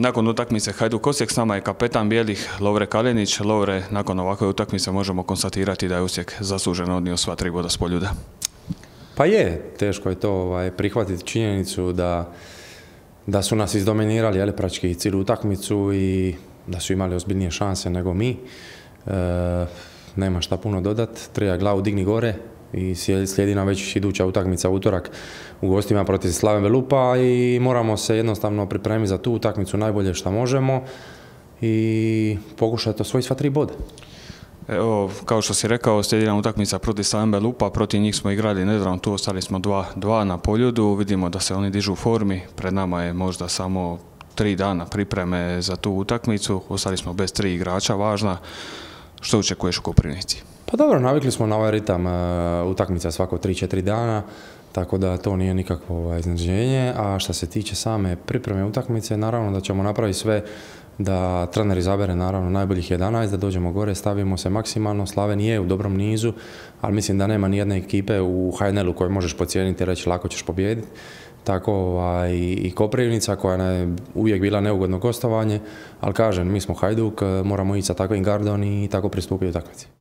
Nakon utakmice Hajduk Osijek s nama je kapetan bijelih Lovre Kalinić. Lovre, nakon ovakve utakmice možemo konstatirati da je Osijek zasluženo odnio sva 3 boda s Poljuda. Pa je, teško je to prihvatiti činjenicu da su nas izdominirali praktički cijelu utakmicu i da su imali ozbiljnije šanse nego mi. Nema šta puno dodat, treba glavu digni gore i slijedi nam već iduća utakmica utorak u gostima protiv Slaven Belupa i moramo se jednostavno pripremiti za tu utakmicu najbolje što možemo i pokušati osvojiti sva 3 boda. Evo, kao što si rekao, slijedi nam utakmica protiv Slaven Belupa, protiv njih smo igrali nedavno, tu ostali smo 2 na Poljudu, vidimo da se oni dižu u formi, pred nama je možda samo 3 dana pripreme za tu utakmicu, ostali smo bez 3 igrača važna. Što očekuješ u Koprivnici? Pa dobro, navikli smo na ovaj ritam utakmica svako 3-4 dana, tako da to nije nikakvo iznenađenje. A što se tiče same pripreme utakmice, naravno da ćemo napraviti sve da trener izabere naravno najboljih 11, da dođemo gore, stavimo se maksimalno. Slaven je u dobrom nizu, ali mislim da nema ni jedne ekipe u HNL-u koju možeš pocijeniti i reći lako ćeš pobijediti. Tako i Koprivnica koja je uvijek bila neugodno gostovanje, ali kažem, mi smo Hajduk, moramo ići sa takvim gardom i tako pristupiti utakmici.